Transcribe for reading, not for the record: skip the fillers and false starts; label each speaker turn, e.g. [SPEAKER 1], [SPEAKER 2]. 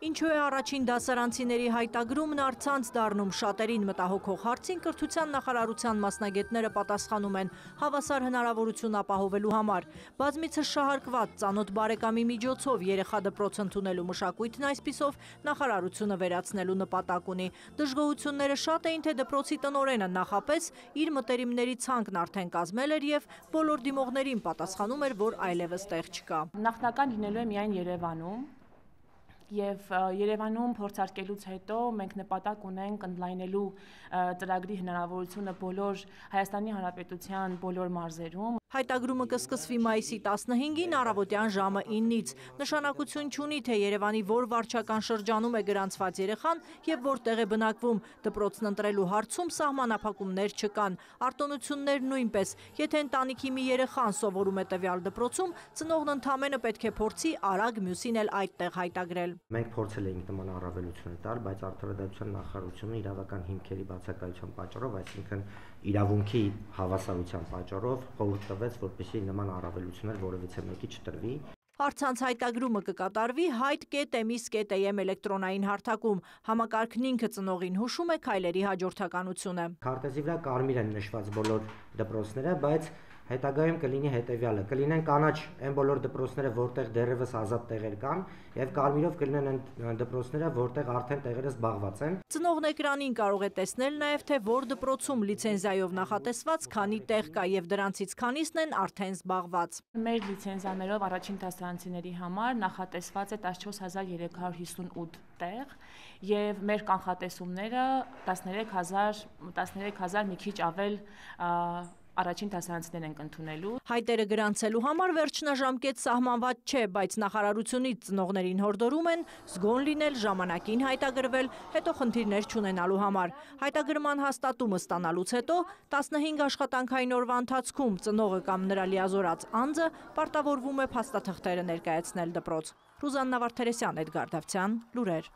[SPEAKER 1] Ինչու է առաջին դասարանցիների հայտագրումն առցանց դառնում շատերին մտահոգող հարցին կրթության նախարարության մասնագետները պատասխանում են հավասար հնարավորություն ապահովելու համար։ Բազմիցս շահարկված ծանոթ բարեկամի միջոցով երեխա դպրոց ընդունելու մշակույթն այսպիսով նախարարությունը վերացնելու նպատակ ունի։ Դժգոհությունները շատ էին, թե դպրոցի տնօրենը նախապես իր մտերիմների ցանկն արդեն կազմել էր եւ բոլոր դիմողներին պատասխանում էր, որ այլևս տեղ չկա։
[SPEAKER 2] Նախնական լինելու է միայն Երևանում։ Եվ Երևանում փորձարկելուց հետո մենք նպատակ ունենք ընդլայնելու ծրագրի հնարավորությունը բոլոր Հայաստանի Հանրապետության բոլոր մարզերում։
[SPEAKER 1] Հայտագրումը կսկսվի մայիսի 15-ին առավոտյան ժամը 9-ից։ Նշանակություն չունի, թե Երևանի որ վարչական շրջանում է գրանցված երեխան եւ որտեղ է բնակվում։ Դպրոցն ընտրելու հարցում սահմանափակումներ չկան։ Արտոնություններ նույնպես։ Եթե ընտանիքի մի երեխան սովորում է տվյալ դպրոցում, ծնողն ընդամենը պետք է փորձի արագ մյուսին էլ այդտեղ հայտագրել։
[SPEAKER 3] Մենք փորձել էինք նման առավելություն տալ, բայց Արդարադատության նախարարությունը իրավական հիմքերի բացակայության պատճառով, այսինքն իրավունքի հավասարության պատճառով խորհուրդ տվեց, որպեսզի նման առավելություններ որևիցե մեկի չտրվի։
[SPEAKER 1] Առցանց հայտագրումը կկատարվի հայտ.emi.am էլեկտրոնային հարթակում։ Համակարգն ինքը ծնողին հուշում է քայլերի հաջորդականությունը։
[SPEAKER 3] Քարտեզի վրա կարմիր են նշված բոլոր դպրոցները, բայց հետագայում կլինի հետևյալը. կլինեն կանաչ այն բոլոր դպրոցները, որտեղ դեռևս ազատ տեղեր կան, եւ կարմիրով կլինեն այն դպրոցները, որտեղ արդեն տեղերը զբաղված են։
[SPEAKER 1] Ծնողն էկրանին կարող է տեսնել նաեւ, թե որ դպրոցում լիցենզիայով նախատեսված քանի տեղ կա եւ դրանցից քանիսն են արդեն զբաղված։
[SPEAKER 2] Մեր լիցենզիաներով առաջին դասարանցիների համար նախատեսված է 14358 տեղ եւ մեր կանխատեսումները 13000 մի քիչ ավել առաջին դասարանցիներ ենք ընդունելու։
[SPEAKER 1] Հայտերը գրանցելու համար վերջնաժամկետ սահմանված չէ, բայց նախարարությունից ծնողներին հորդորում են զգոն լինել, ժամանակին հայտագրվել, հետո խնդիրներ չունենալու համար։ Հայտագրման հաստատումը ստանալուց հետո 15 աշխատանքային օրվա ընթացքում ծնողը կամ նրա լիազորած անձը պարտավորվում է փաստաթղթերը ներկայացնել դպրոց։ Ռուզաննա Վարդերեսյան, Էդգար Դավթյան, լուրեր։